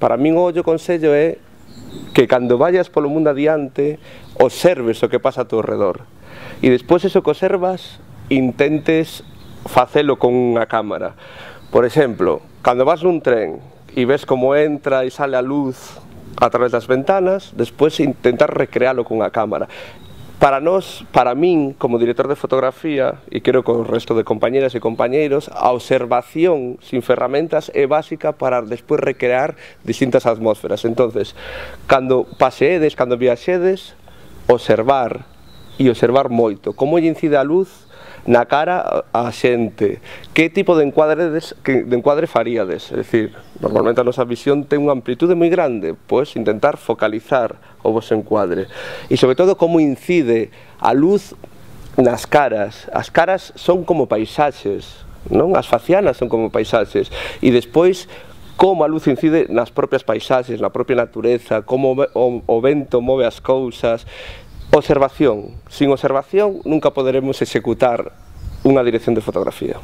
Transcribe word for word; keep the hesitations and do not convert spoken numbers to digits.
Para min o ollo consello é que cando vayas polo mundo adiante observes o que pasa a teu redor e despois eso que observas intentes facelo con unha cámara. Por exemplo, cando vas nun tren e ves como entra e sale a luz a través das ventanas, despois intentar recrealo con unha cámara. Para nós, para min, como director de fotografía, e creo que o resto de compañeras e compañeiros, a observación sin ferramentas é básica para despois recrear distintas atmósferas. Entonces, cando paseedes, cando viaxedes, observar, e observar moito, como lle incide a luz na cara a xente, que tipo de encuadre, de encuadre faríades, é dicir, normalmente a nosa visión ten unha amplitude moi grande, pois intentar focalizar o vosso encuadre, e sobre todo como incide a luz nas caras. As caras son como paisaxes, non? As facianas son como paisaxes, e despois como a luz incide nas propias paisaxes, na propia natureza, como o, o vento move as cousas. Observación. Sin observación nunca poderemos executar unha dirección de fotografía.